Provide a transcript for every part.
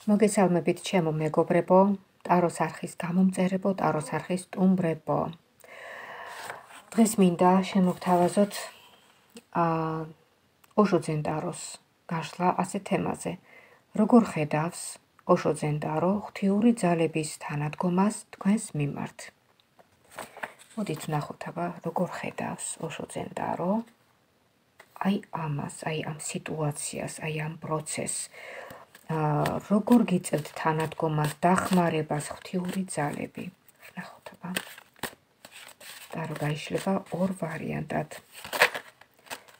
მოგესალმებით ჩემო მეგობრებო, ტაროს არხის გამომწერებო, ტაროს არხის სტუმრებო. დღეს მინდა შემოგთავაზოთ ოშო ძენტაროს გაშლა ასე თემაზე. როგორ ხედავს ოშო ძენტარო ღვთიური ძალების თანადგომას თქვენს მიმართ? მოდით ვნახოთ აბა, როგორ ხედავს ოშო ძენტარო აი ამას, აი ამ სიტუაციას, აი ამ პროცესს. როგორ გიწევთ თანადგომას, დახმარებას ღვთიური ძალები? ვნახოთ აბა. ტარო გაიშლება ორ ვარიანტად.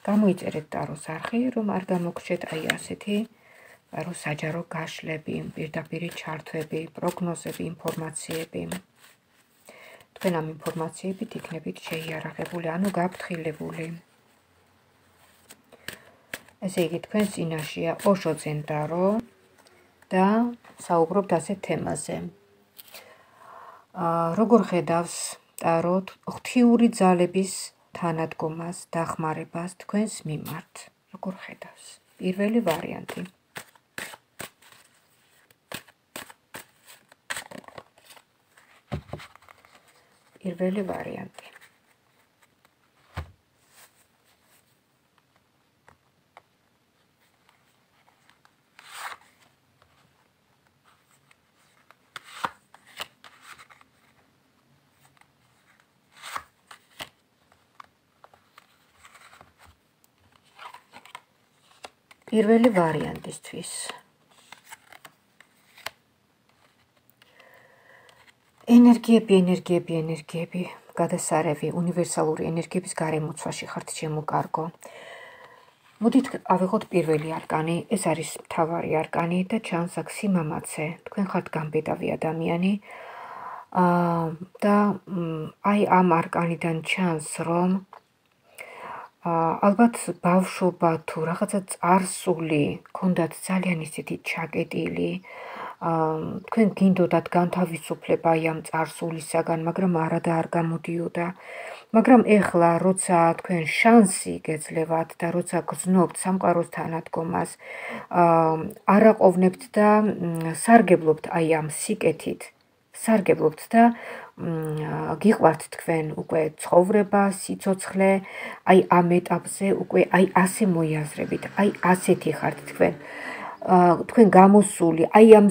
გამოიწერეთ ტაროს არხი, რომ არ გამოგრჩეთ აი ასეთი ტაროს საჯარო გაშლები, პირდაპირი ჩართვები, პროგნოზები, ინფორმაციები. თქვენ ამ ინფორმაციებით იქნებით შეიარაღებული, ანუ გაფრთხილებული. ესე იგი, თქვენ წინაშეა ოშო ძენტარო და საუბრობთ ასეთ თემაზე. როგორ ხედავს ტარო ღვთიური ძალების თანადგომას, დახმარებას თქვენს მიმართ? როგორ ხედავს? პირველი ვარიანტი. პირველი ვარიანტი. პირველი ვარიანტისთვის. ენერგიები, გადასარევი, უნივერსალური ენერგიების გარემოცვაში ხართ ჩემო კარგო. მოდით ავიღოთ პირველი არკანი, ეს არის მთავარი არკანი და ჩანს აქ სიმამაცე. თქვენ ხართ გამბედავი ადამიანი და აი ამ არკანიდან ჩანს, რომ ალბათ ბავშვობა თუ რაღაცა წარსული გქონდათ ძალიან ისეთი ჩაკეტილი, თქვენ გინდოდათ განთავისუფლება აი ამ წარსულისაგან, მაგრამ არა და არ გამოდიოდა. მაგრამ ეხლა, როცა თქვენ შანსი გეძლევათ და როცა გრძნობთ სამყაროს თანადგომას, არ აყოვნებთ და სარგებლობთ აი ამ სიკეთით, სარგებლობთ და გიყვართ თქვენ უკვე ცხოვრება, სიცოცხლე, აი ამ ეტაპზე უკვე აი ასე მოიაზრებით, აი ასეთი ხართ თქვენ. თქვენ გამოსული აი ამ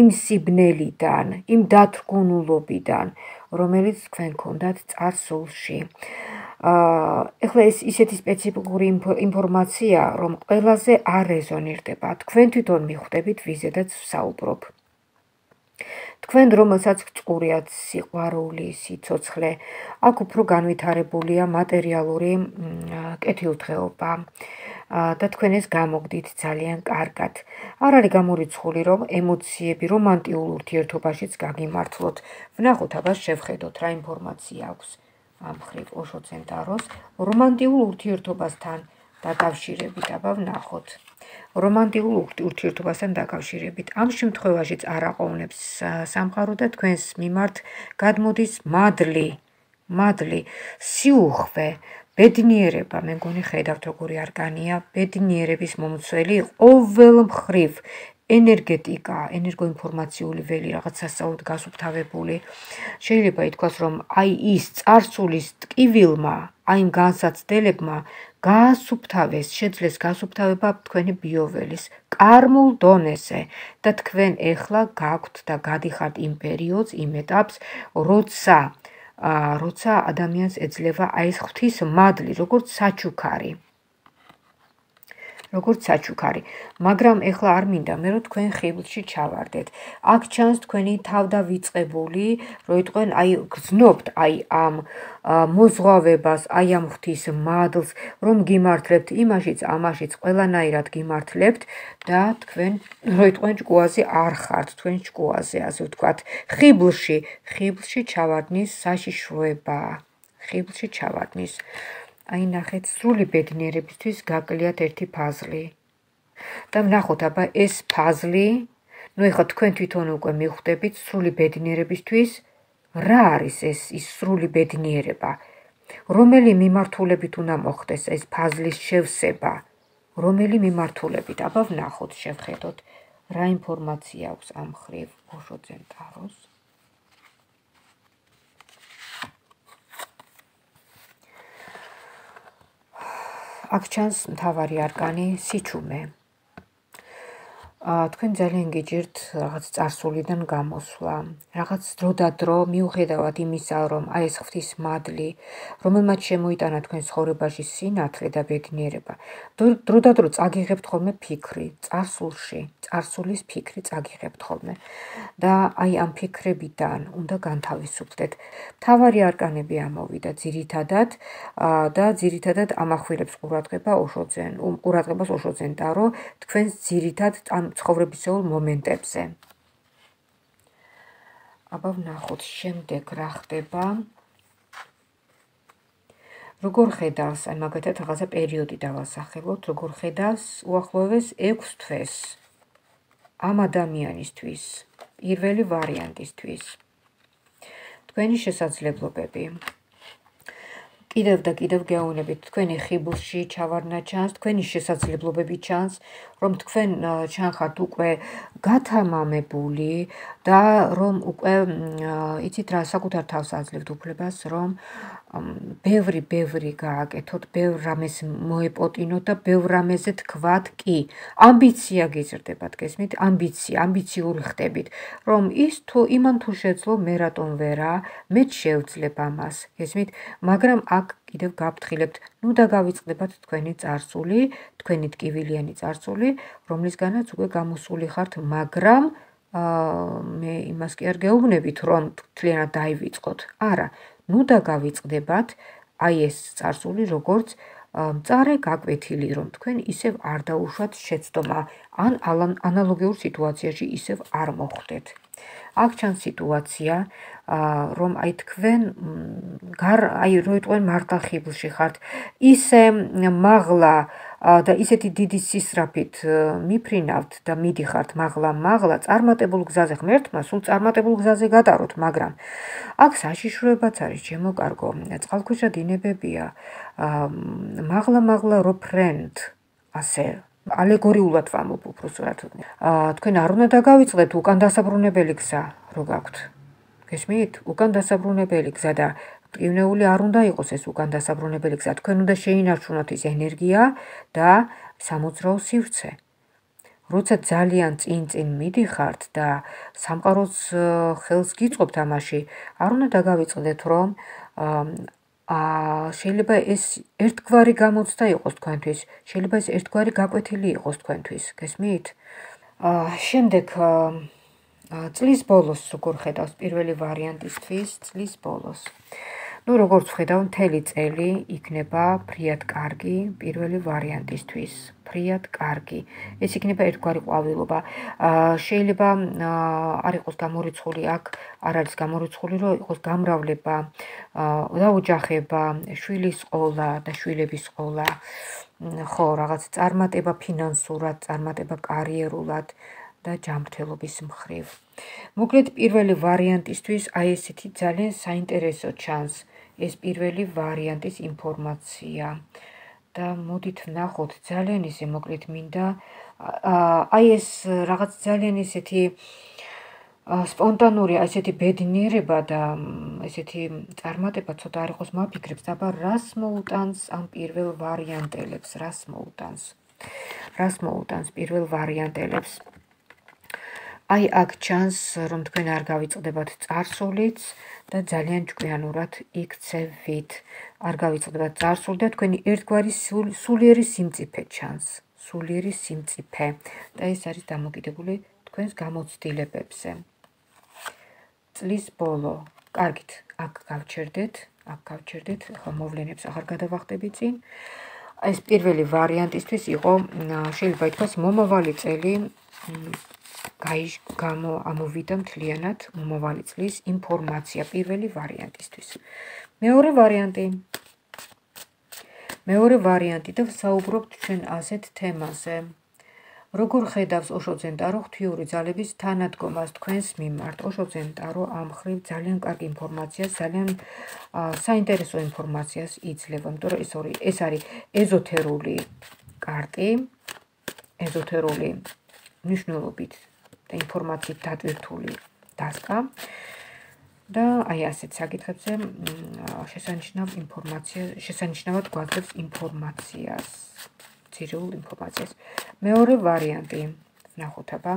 იმ სიბნელიდან, იმ დათრგუნულობიდან, რომელიც თქვენ გქონდათ წარსულში. ეხლა ეს ისეთი სპეციფიკური ინფორმაცია, რომ ყველაზე არ რეზონირდება. თქვენ თვითონ მიხვდებით ვიზედაც ვსაუბრობ. თქვენ რომელსაც გწყურიათ სიყვარული, სიცოცხლე, აქ უფრო განვითარებულია მატერიალური კეთილდღეობა და თქვენ ეს გამოგდით ძალიან კარგად. არ არის გამორიცხული, რომ ემოციები რომანტიულ ურთიერთობაშიც გაგიმართლოთ. ვნახოთ აბა შევხედოთ რა ინფორმაცია აქვს ამ მხრივ ოშო ძენტაროს რომანტიულ ურთიერთობასთან დაკავშირებით. აბა ვნახოთ. რომანტიულ ურთიერთობასთან დაკავშირებით. ამ შემთხვევაშიც არ აყოვნებს სამყარო და თქვენს მიმართ გადმოდის მადლი, სიუხვე, ბედნიერება. მე მგონი ხედავთ როგორი არკანია, ბედნიერების მომცველი, ყოველ მხრივ ენერგეტიკა, ენერგოინფორმაციული ველი, რაღაც სასწაულად გასუფთავებული. შეიძლება ითქვას, რომ აი ის წარსულის ტკივილმა, აი იმ განსაცდელებმა გაასუფთავეს, შეძლეს გასუფთავება თქვენი ბიოველის კარმულ დონეზე და თქვენ ეხლა გაქვთ და გადიხართ იმ პერიოდს, იმ ეტაპს, როცა ადამიანს ეძლევა აი ეს ღვთის მადლი, როგორც საჩუქარი. მაგრამ ეხლა არ მინდა მე რომ თქვენ ხიბლში ჩავარდეთ. აქ ჩანს თქვენი თავდავიწყებული, რომ იტყვენ აი გრძნობთ აი ამ მოზღვავებას, აი ამ ღვთის მადლს, რომ გიმართლებთ იმაშიც, ამაშიც, ყველანაირად გიმართლებთ და თქვენ რომ იტყვენ ჭკუაზე არ ხართ, თქვენ ჭკუაზე, ასე ვთქვათ, ხიბლში ჩავარდნის საშიშროება, ხიბლში ჩავარდნის. აი ნახეთ, სრული ბედნიერებისთვის გაკლიათ ერთი ფაზლი. და ვნახოთ აბა ეს ფაზლი, ნუ ეხლა თქვენ თვითონ უკვე მიხვდებით სრული ბედნიერებისთვის, რა არის ეს ის სრული ბედნიერება? რომელი მიმართულებით უნდა მოხდეს ეს ფაზლის შევსება? რომელი მიმართულებით? აბა ვნახოთ, შევხედოთ. რა ინფორმაცია აქვს ამ მხრივ ოშოძენ ტაროს? აქ ჩანს მთავარი არკანი სიჩუმე. თქვენ ძალიან გიჭირთ რაღაც წარსულიდან გამოსვლა, რაღაც დროდადრო მიუხედავად იმისა, რომ აი ეს ღვთის მადლი, რომელმაც შემოიტანა თქვენ ცხოვრებაში სინათლე და ბედნიერება, დროდადრო წაგიღებთ ხოლმე ფიქრი, წარსულის ფიქრი წაგიღებთ ხოლმე და აი ამ ფიქრებიდან უნდა განთავისუფლდეთ. მთავარი არკანები ამოვიდა ძირითადად და ძირითადად ამახვილებს ყურადღებას ოშოძენ ტარო თქვენს ძირითად ცხოვრებისეულ მომენტებზე. აბა ვნახოთ შემდეგ რა ხდება. როგორ ხედავს, აი მაგათად რაღაცა პერიოდი დავასახელოთ, როგორ ხედავს უახლოეს 6 თვეს ამ ადამიანისთვის, პირველი ვარიანტისთვის. თქვენი შესაძლებლობები. კიდევ და კიდევ გეუბნებით, თქვენი ხიბლში ჩავარდნა ჩანს, თქვენი შესაძლებლობები ჩანს, რომ თქვენ ჩანხართ უკვე გათამამებული და რომ უკვე იცით რა, საკუთარ თავს აძლევთ უფლებას, რომ ბევრი გააკეთოთ, ბევრ რამეს მოეპოტინოთ და ბევრ რამეზე თქვათ კი. ამბიცია გიზრდებათ, გესმით? ამბიციური ხდებით, რომ ის თუ იმან თუ შეძლო, მე რატომ ვერა, მეც შევძლებ ამას, გესმით? მაგრამ აქ კიდევ გაფრთხილებთ, ნუ დაგავიწყდებათ თქვენი წარსული, თქვენი ტკივილიანი წარსული, რომლისგანაც უკვე გამოსული ხართ, მაგრამ მე იმას კი არ გეუბნებით, რომ მთლიანად დაივიწყოთ. არა, ნუ დაგავიწყდებათ აი ეს წარსული, როგორც მწარე გაკვეთილი, რომ თქვენ ისევ არ დაუშვათ შეცდომა, ან ანალოგიურ სიტუაციაში ისევ არ მოხვდეთ. აქ ჩანს სიტუაცია, რომ აი თქვენ როიტყვენ მართლა ხიბლში ხართ, ისე მაღლა და ისეთი დიდი სისწრაფით მიფრინავთ და მიდიხართ მაღლა წარმატებულ გზაზე ღმერთმა, სულ წარმატებულ გზაზე გადაროთ, მაგრამ აქ საშიშროებაც არის, ჩემო კარგო, წყალქვეშა დინებებია, მაღლა რო ფრენთ, ასე ალეგორიულად ვამბობ უბრალოდ. თქვენ არ უნდა დაგავიწყდეთ უკან დასაბრუნებელი გზა, რო გაქვთ. გესმით? უკან დასაბრუნებელი გზა და მტკივნეული არ უნდა იყოს ეს უკან დასაბრუნებელი გზა. თქვენ უნდა შეინარჩუნოთ ის ენერგია და სამოძრაო სივრცე. როცა ძალიან წინ მიდიხართ და სამყაროს ხელს გიწყობთ ამაში, არ უნდა დაგავიწყდეთ, რომ შეიძლება ეს ერთგვარი გამოცდა იყოს თქვენთვის, შეიძლება ეს ერთგვარი გაკვეთილი იყოს თქვენთვის, გესმით? შემდეგ წლის ბოლოს როგორ ხედავს პირველი ვარიანტისთვის წლის ბოლოს. ნუ როგორც ვხედავ, მთელი წელი იქნება ფრიად კარგი პირველი ვარიანტისთვის. ფრიად კარგი. ეს იქნება ერთგვარი ყვავილობა. შეიძლება არ იყოს გამორიცხული, აქ არ არის გამორიცხული, რომ იყოს გამრავლება და ოჯახება, შვილის ყოლა და შვილების ყოლა. ხო, რაღაც წარმატება ფინანსურად, წარმატება კარიერულად და ჯანმრთელობის მხრივ. მოკლედ პირველი ვარიანტისთვის აი ესეთი ძალიან საინტერესო ჩანს ეს პირველი ვარიანტის ინფორმაცია. და მოდით ვნახოთ, ძალიან ისე მოკლედ მინდა აი ეს რაღაც ძალიან ისეთი სპონტანური, ესეთი ბედნიერება და ესეთი წარმატება ცოტა არ იყოს მაფიქრებს, აბა რას მოუტანს ამ პირველ ვარიანტელებს, რას მოუტანს პირველ ვარიანტელებს. აი აქ ჩანს, რომ თქვენ არ გავიწყდებათ წარსულიც და ძალიან ჭკვიანურად იქცევით. არ გავიწყდებათ წარსული და თქვენი ერთგვარი სულიერი სიმწიფე ჩანს. სულიერი სიმწიფე და ეს არის დამოკიდებული თქვენს გამოცდილებებზე. წლის ბოლო. კარგით, აქ გავჩერდეთ, ხო მოვლენებს აღარ გადავახტები წინ. ეს პირველი ვარიანტისთვის იყო, შეიძლება ითქვას, მომავალი წელი ამოვიდა მთლიანად მომავალი წლის ინფორმაცია პირველი ვარიანტისთვის. მეორე ვარიანტი და ვსაუბრობთ ჩვენ ასეთ თემაზე. როგორ ხედავს ოშოძენ ტარო ღვთიური ძალების თანადგომას თქვენს მიმართ? ოშოძენ ტარო ამ მხრივ ძალიან კარგი ინფორმაციას, ძალიან საინტერესო ინფორმაციას იძლევა, იმიტომ რომ ეს არის ეზოთერული კარტი, ეზოთერული მნიშვნელობით და ინფორმაციით დატვირთული დასკა და აი ასეთ საკითხებზე შესანიშნავად გვაძლევს ინფორმაციას, ძირეულ ინფორმაციას. მეორე ვარიანტი, ვნახოთ აბა.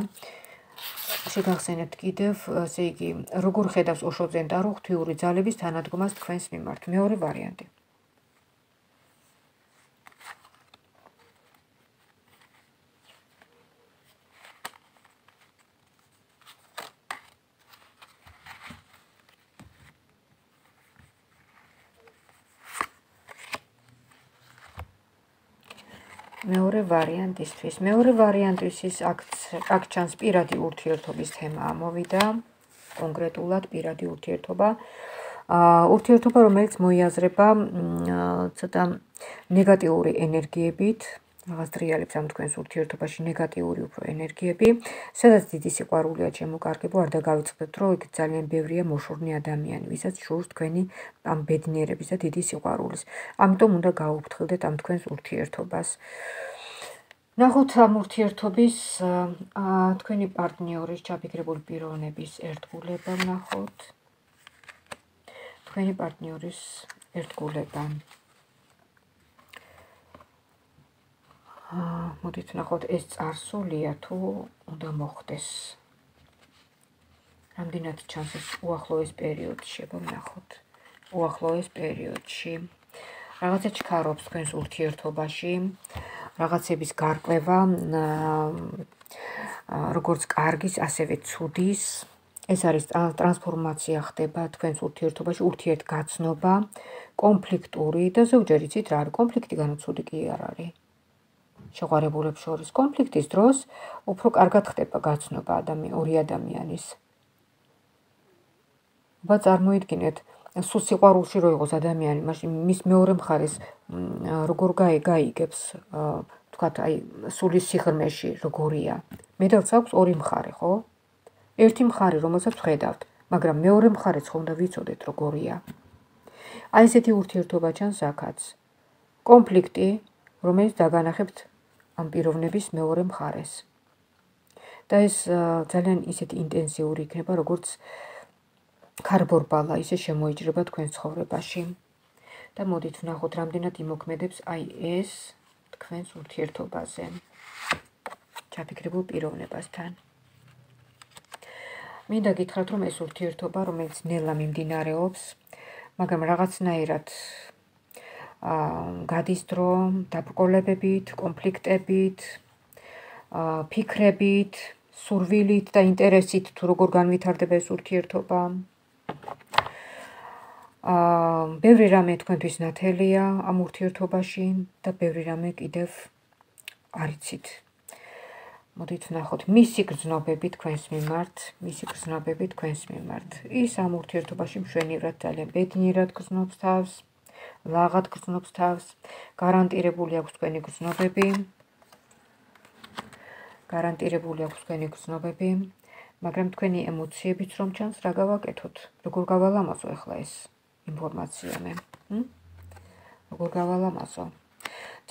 შეგახსენებთ კიდევ, ესე იგი, როგორ ხედავს ოშო ზენტარო ღვთიური ძალების თანადგომას თქვენს მიმართ. მეორე ვარიანტი. მეორე ვარიანტისთვის აქ ჩანს პირადი ურთიერთობის თემა ამოვიდა, კონკრეტულად პირადი ურთიერთობა. ურთიერთობა, რომელიც მოიაზრება ცოტა ნეგატიური ენერგიებით, რაღაც დრიალებს ამ თქვენს ურთიერთობაში ნეგატიური უფრო ენერგიები, სადაც დიდი სიყვარულია შემოკარგებო, არ დაგავიწყდეთ, რომ იქ ძალიან ბევრია მოშორნე ადამიანი, ვისაც სურს თქვენი ამ ბედნიერების და დიდი სიყვარულის. ამიტომ უნდა გაუფრთხილდეთ ამ თქვენს ურთიერთობას. ნახოთ ამ ურთიერთობის თქვენი პარტნიორის ჩაფიქრებული პიროვნების ერთგულება ვნახოთ. თქვენი პარტნიორის ერთგულება. მოდით ვნახოთ, ეს წარსულია თუ უნდა მოხდეს. რამდენად ჩანს ეს უახლოეს პერიოდში, ვნახოთ. უახლოეს პერიოდში. რაღაცა ჩქარობს თქვენს ურთიერთობაში. რაღაცების გარკვევა, როგორც კარგის, ასევე ცუდის. ეს არის ტრანსფორმაცია ხდება თქვენს ურთიერთობაში, ურთიერთგაცნობა, კონფლიქტური და ზოგჯერ იცით რა არის, კონფლიქტი განუცუდი კი არ არის. შეყვარებულებს შორის კონფლიქტის დროს უფრო კარგად ხდება გაცნობა ორი ადამიანის. აბა წარმოიდგინეთ, სულ სიყვარულში რო იყოს ადამიანი, მაშინ მის მეორე მხარეს როგორ გაიგებს, თქვათ, აი, სულის სიღრმეში როგორია. მეტალს აქვს ორი მხარე, ხო? ერთი მხარე, რომელსაც ვხედავთ, მაგრამ მეორე მხარეც ხო უნდა ვიცოდეთ როგორია. აი ესეთი ურთიერთობა ჩანს აქაც. კონფლიქტი, რომელიც დაგანახებთ ამ პიროვნების მეორე მხარეს. და ეს ძალიან ისეთი ინტენსიური იქნება, როგორც ქარბორბალა, ისე შემოიჭრება თქვენ ცხოვრებაში. და მოდით ვნახოთ, რამდენად იმოქმედებს აი ეს თქვენს ურთიერთობაზე. ჩაფიქრებულ პიროვნებასთან. მინდა გითხრათ, რომ ეს ურთიერთობა, რომელიც ნელა მიმდინარეობს, მაგრამ რაღაცნაირად გადის დრო დაბრკოლებებით, კონფლიქტებით, ფიქრებით, სურვილით და ინტერესით, თუ როგორ განვითარდება ეს ურთიერთობა. ბევრი რამე თქვენთვის ნათელია ამ ურთიერთობაში და ბევრი რამე კიდევ არ იცით. მოდით ვნახოთ, მისი გრძნობები თქვენს მიმართ, ის ამ ურთიერთობაში მშვენივრად ძალიან ბედნიერად გრძნობს თავს, ლაღად გრძნობს თავს, გარანტირებული აქვს თქვენი გრძნობები, მაგრამ თქვენი ემოციებიც რომ ჩანს, რა გავაკეთოთ? როგორ გავალამაზო ახლა ეს ინფორმაცია მე? როგორ გავალამაზო?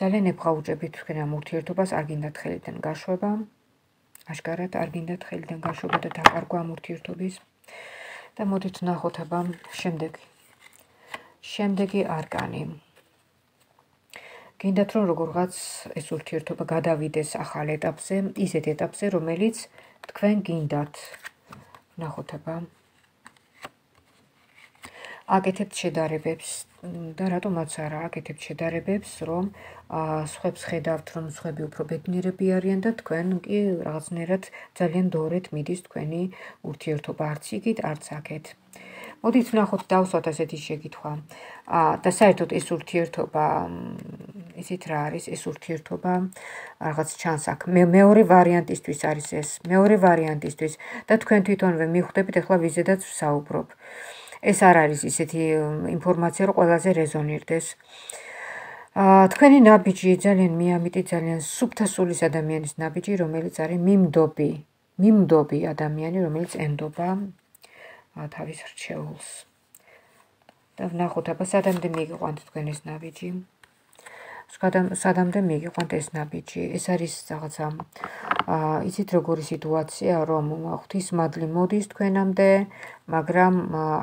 ძალიან ებღაუჭებით თქვენ ამ ურთიერთობას, არ გინდათ ხელიდან გაშვება, აშკარად არ გინდათ ხელიდან გაშვება და დაკარგვა ამ ურთიერთობის. და მოდით ვნახოთ აბა შემდეგი არკანი. გინდათ რომ როგორღაც ეს ურთიერთობა გადავიდეს ახალ ეტაპზე, ისეთ ეტაპზე, რომელიც თქვენ გინდათ. ვნახოთ აბა. აკეთებთ შედარებებს და რატომაც არა აკეთებთ შედარებებს, რომ სხვებს ხედავთ, რომ სხვები უფრო ბედნიერები არიან და თქვენ კი რაღაცნაირად ძალიან დორეთ მიდის თქვენი ურთიერთობა, არც იქით, არც აქეთ. მოდით ვნახოთ, დავსვათ ასეთი შეკითხვა. და საერთოდ ეს ურთიერთობა, იცით რა არის, ეს ურთიერთობა რაღაც ჩანს აქ. მეორე ვარიანტისთვის არის ეს, მეორე ვარიანტისთვის და თქვენ თვითონვე მიხვდებით, ახლა ვიზედაც ვსაუბრობ. ეს არ არის ისეთი ინფორმაცია, რომ ყველაზე რეზონირდეს. თქვენი ნაბიჯი ძალიან მიამიტი, ძალიან სუფთა სულის ადამიანის ნაბიჯი, რომელიც არის მიმდობი ადამიანი, რომელიც ენდობა თავის რჩეულს. და ვნახოთ, აბა სადამდე მიგიყვანთ თქვენ ეს ნაბიჯი. სადამდე მიგიყვანთ ეს ნაბიჯი. ეს არის რაღაცა იცით როგორი სიტუაცია, რომ ღვთისმადლი მოდის თქვენამდე, მაგრამ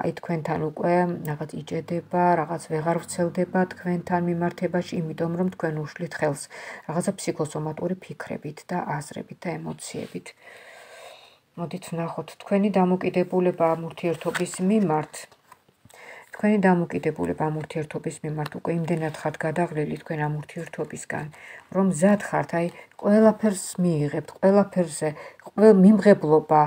აი თქვენთან უკვე რაღაც იჭედება, რაღაც ვეღარ ვრცელდება თქვენთან მიმართებაში, იმიტომ რომ თქვენ უშლით ხელს რაღაცა ფსიქოსომატური ფიქრებით და აზრებით და ემოციებით. მოდით ვნახოთ თქვენი დამოკიდებულება ამ ურთიერთობის მიმართ. თქვენი დამოკიდებულება ამ ურთიერთობის მიმართ უკვე იმდენად ხართ გადაღლილი თქვენ ამ ურთიერთობისგან, რომ მზად ხართ, აი ყველაფერს მიიღებთ, ყველაფერზე მიმღებლობა,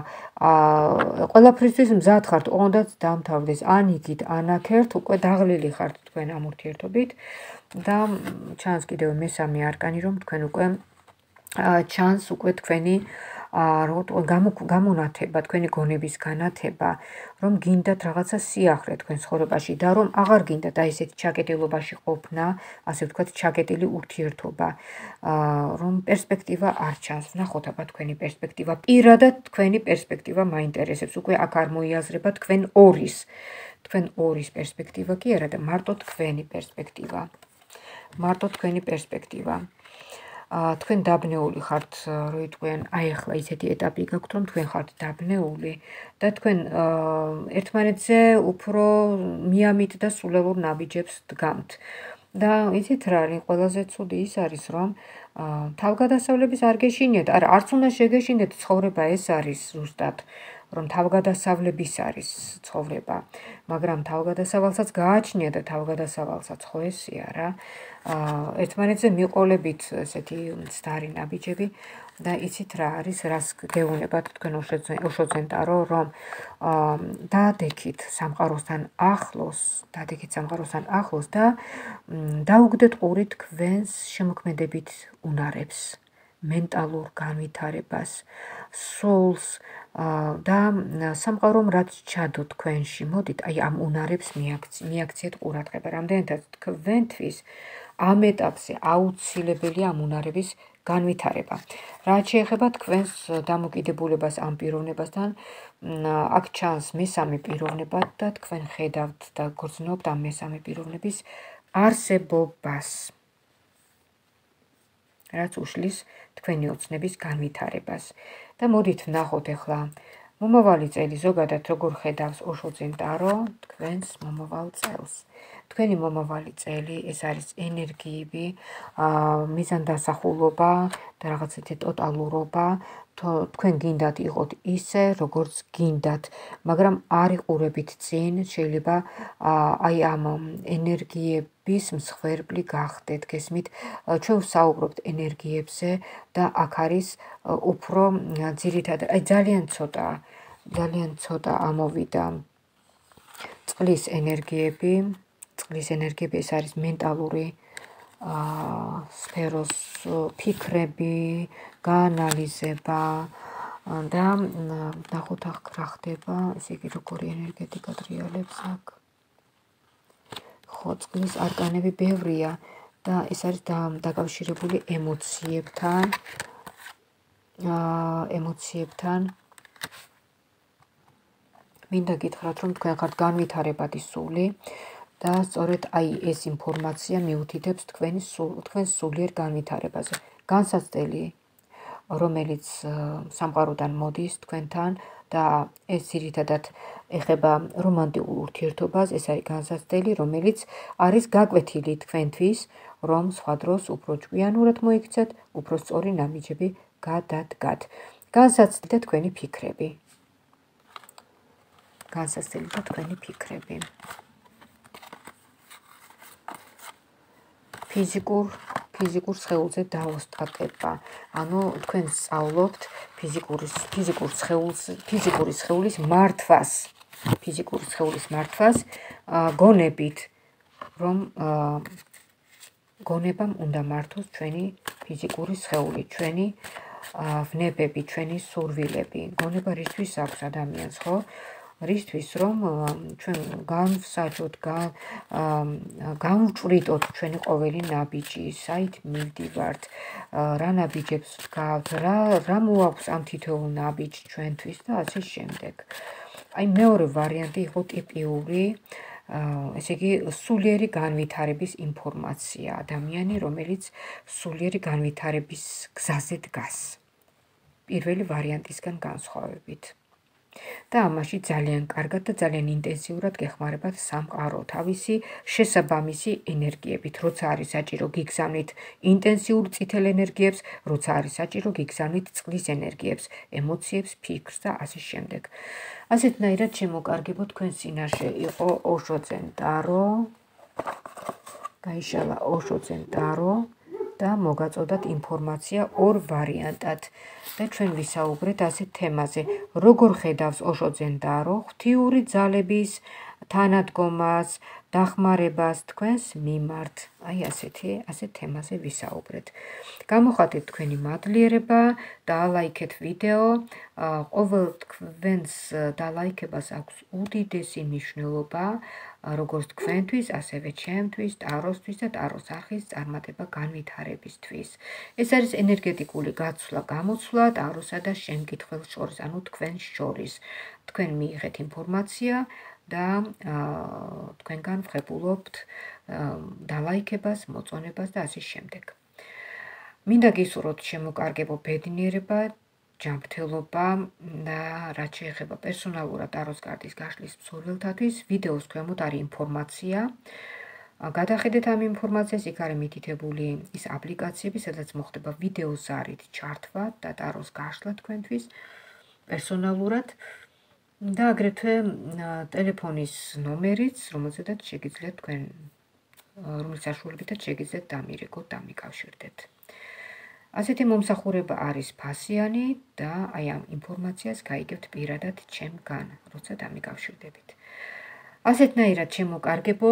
ყველაფრისთვის მზად ხართ, ოღონდაც დამთავრდეს, ან იგით, ან აქერთ, უკვე დაღლილი ხართ თქვენ ამ ურთიერთობით და ჩანს კიდევ მესამე არკანი, რომ თქვენ უკვე ჩანს უკვე თქვენი გამონათება, თქვენი გონების განათება, რომ გინდათ რაღაცა სიახლე თქვენ ცხოვრებაში და რომ აღარ გინდათ აი ესეთი ჩაკეტილობაში ყოფნა, ასე ვთქვათ, ჩაკეტილი ურთიერთობა, რომ პერსპექტივა არ ჩანს. ვნახოთ აბა თქვენი პერსპექტივა. პირადად თქვენი პერსპექტივა მაინტერესებს. უკვე აქ არ მოიაზრება თქვენ ორის პერსპექტივა კი არა და მარტო თქვენი პერსპექტივა. მარტო თქვენი პერსპექტივა. თქვენ დაბნეული ხართ, რო იტყვიან, აი ახლა ისეთი ეტაპი გაქვთ, რომ თქვენ ხართ დაბნეული და თქვენ ერთმანეთზე უფრო მიამით და სულელურ ნაბიჯებს დგამთ. და იცით რა არის, ყველაზე ცუდი ის არის, რომ თავგადასავლების არ გეშინიათ, არა, არც უნდა შეგეშინდეთ, ცხოვრება ეს არის ზუსტად, რომ თავგადასავლების არის ცხოვრება, მაგრამ თავგადასავალსაც გააჩნია და თავგადასავალსაც ხო ესია რა. ერთმანეთზე მიყოლებით ესეთი მცდარი ნაბიჯები და იცით რა არის, რას გეუბნებათ თქვენ ოშოძენტარო, რომ დაადექით სამყაროსთან ახლოს და დაუგდეთ ყური თქვენს შემოქმედებით უნარებს, მენტალურ განვითარებას, სულს და სამყარომ რაც ჩადო თქვენში, მოდით აი ამ უნარებს მიაქციეთ ყურადღება. რამდენადაც თქვენთვის ამ ეტაპზე აუცილებელია ამ უნარების განვითარება. რაც შეეხება თქვენს დამოკიდებულებას ამ პიროვნებასთან, აქ ჩანს მესამე პიროვნება და თქვენ ხედავთ და გრძნობთ ამ მესამე პიროვნების არსებობას. რაც უშლის თქვენი ოცნების განვითარებას. და მოდით ვნახოთ ახლა მომავალი წელი ზოგადად როგორ ხედავს ოშოძენტარო თქვენს მომავალ წელს. თქვენი მომავალი წელი ეს არის ენერგიები, მიზანდასახულობა და რაღაც ერთი ტოტალურობა. თქვენ გინდათ იყოთ ისე, როგორც გინდათ, მაგრამ არ იყურებით წინ, შეიძლება აი ამ ენერგიების მსხვერპლი გახდეთ, გესმით? ჩვენ ვსაუბრობთ ენერგიებზე და აქ არის უფრო ძირითადად, აი ძალიან ცოტა ამოვიდა წყლის ენერგიები. წყლის ენერგიები ეს არის მენტალური სფეროს ფიქრები, გაანალიზება და ნახოთ აქ რა ხდება, ესე იგი როგორი ენერგეტიკა დრიალებს აქ. ხო, წყლის არკანები ბევრია და ეს არის დაკავშირებული ემოციებთან. მინდა გითხრათ, რომ თქვენ ხართ განვითარებადი სული და სწორედ აი ეს ინფორმაცია მიუთითებს თქვენს სულიერ განვითარებაზე. განსაცდელი, რომელიც სამყაროდან მოდის თქვენთან და ეს ძირითადად ეხება რომანტიკულ ურთიერთობას, ეს არის განსაცდელი, რომელიც არის გაკვეთილი თქვენთვის, რომ სხვა დროს უფრო ჭკვიანურად მოიქცეთ, უფრო სწორი ნაბიჯები გადადგათ. განსაცდელი და თქვენი ფიქრები. ფიზიკურ სხეულზე დაოსტატება. ანუ თქვენ სწავლობთ ფიზიკური სხეულის მართვას, გონებით, რომ გონებამ უნდა მართოს ჩვენი ფიზიკური სხეული, ჩვენი ვნებები, ჩვენი სურვილები. გონება რისთვის აქვს ადამიანს, ხო? რისთვის, რომ ჩვენ განვსაჯოთ, განვჭვრიტოთ ჩვენი ყოველი ნაბიჯი, საით მივდივართ, რა ნაბიჯებს ვდგავთ, რა მოაქვს ამ თითოეულ ნაბიჯს ჩვენთვის და ასე შემდეგ. აი მეორე ვარიანტი იყო ტიპიური, ესე იგი, სულიერი განვითარების ინფორმაცია, ადამიანი, რომელიც სულიერი განვითარების გზაზე დგას. პირველი ვარიანტისგან განსხვავებით. და ამაში ძალიან კარგად და ძალიან ინტენსიურად გეხმარებათ სამყარო თავისი შესაბამისი ენერგიებით, როცა არის საჭირო გიგზავნით ინტენსიურ წითელ ენერგიებს, როცა არის საჭირო გიგზავნით წყლის ენერგიებს, ემოციებს, ფიქრს და ასე შემდეგ. ასეთნაირად შემოკარგებო თქვენ წინაშე იყო ოშოძენ ტარო, გაიშალა ოშოძენ ტარო და მოგაწოდათ ინფორმაცია ორ ვარიანტად. და ჩვენ ვისაუბრეთ ასეთ თემაზე, როგორ ხედავს ოშოძენ ტარო ღვთიური ძალების თანადგომას, დახმარებას თქვენს მიმართ. აი ასეთ თემაზე ვისაუბრეთ. გამოხატეთ თქვენი მადლიერება, დაალაიქეთ ვიდეო, ყოველ თქვენს დალაიქებას აქვს უდიდესი მნიშვნელობა, როგორც თქვენთვის, ასევე ჩემთვის, ტაროსთვის და ტაროს არხის წარმატება განვითარებისთვის. ეს არის ენერგეტიკული გაცვლა-გამოცვლა ტაროსა და შემკითხველს შორის, ანუ თქვენს შორის. თქვენ მიიღეთ ინფორმაცია და თქვენგან ვღებულობთ დალაიქებას, მოწონებას და ასე შემდეგ. მინდა გისურვოთ შემოკარგებო ბედნიერება, ჯანმრთელობა და რაც შეეხება პერსონალურად ტაროს კარტის გაშლის მსურველთათვის, ვიდეოს ქვემოთ არის ინფორმაცია. გადახედეთ ამ ინფორმაციას, იქ არის მითითებული ის აპლიკაციები, სადაც მოხდება ვიდეოს ზარით ჩართვა და ტაროს გაშლა თქვენთვის პერსონალურად და აგრეთვე ტელეფონის ნომერიც, რომელზედაც შეგიძლიათ თქვენ რომლის საშუალებითაც შეგიძლიათ დამირეკოთ, დამიკავშირდეთ. ასეთი მომსახურება არის ფასიანი და აი ამ ინფორმაციას გაიგებთ პირადად ჩემგან, როცა დამიკავშირდებით. ასეთნაირად შემოკარგებო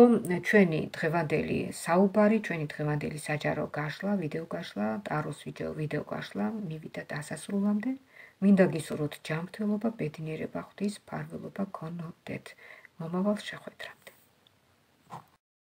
ჩვენი დღევანდელი საუბარი, ჩვენი დღევანდელი საჯარო გაშლა, ვიდეო გაშლა, ტაროს ვიდეო გაშლა მივიდა დასასრულამდე. მინდა გისურვოთ ჯანმრთელობა, ბედნიერება, ღვთის ფარველობა გქონოდეთ. მომავალ შეხვედრამდე.